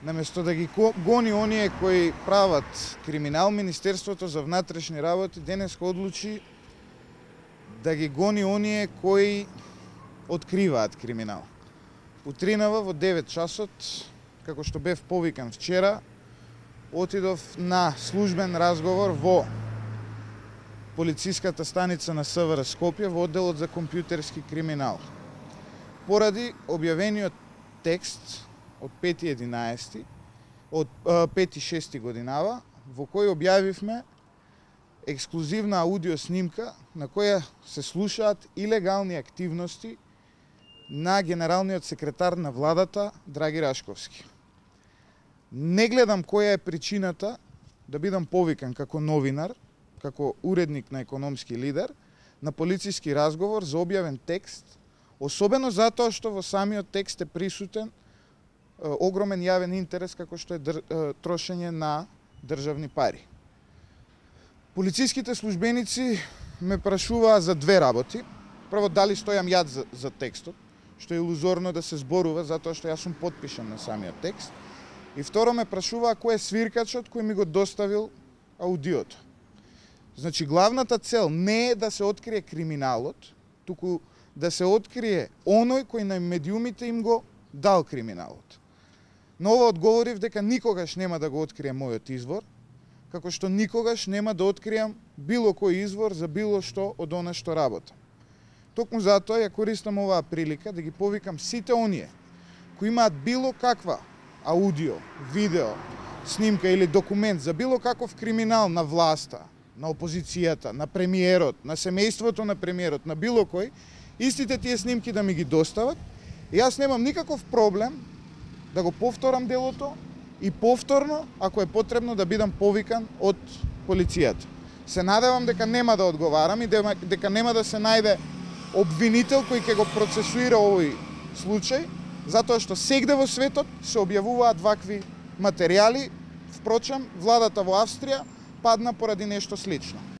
Наместо да ги гони оние кои прават криминал, Министерството за внатрешни работи денес одлучи да ги гони оние кои откриваат криминал. Утринава во 9 часот, како што бев повикан вчера, отидов на службен разговор во полициската станица на СВР Скопје во одделот за компјутерски криминал. Поради објавениот текст од 5.11, од 5.6 годинава, во кој објавивме ексклузивна аудио снимка на која се слушаат илегални активности на генералниот секретар на владата Драги Рашковски. Не гледам која е причината да бидам повикан како новинар, како уредник на Економски лидер, на полициски разговор за објавен текст, особено затоа што во самиот текст е присутен огромен јавен интерес како што е трошење на државни пари. Полициските службеници ме прашуваа за две работи. Прво, дали стојам јас за текстот, што е илузорно да се зборува затоа што јас сум потпишан на самиот текст. И второ, ме прашуваа кој е свиркачот кој ми го доставил аудиото. Значи, главната цел не е да се открие криминалот, туку да се открие оној кој на медиумите им го дал криминалот. Но ова одговорив дека никогаш нема да го открием мојот извор, како што никогаш нема да открием било кој извор за било што од она што работам. Токму затоа ја користам оваа прилика да ги повикам сите оние кои имаат било каква аудио, видео, снимка или документ за било каков криминал на власта, на опозицијата, на премиерот, на семејството на премиерот, на било кој, истите тие снимки да ми ги достават. И јас немам никаков проблем да го повторам делото и повторно, ако е потребно, да бидам повикан од полицијата. Се надевам дека нема да одговарам и дека нема да се најде обвинител кој ќе го процесуира овој случај, затоа што сегде во светот се објавуваат вакви материјали. Впрочем, владата во Австрија падна поради нешто слично.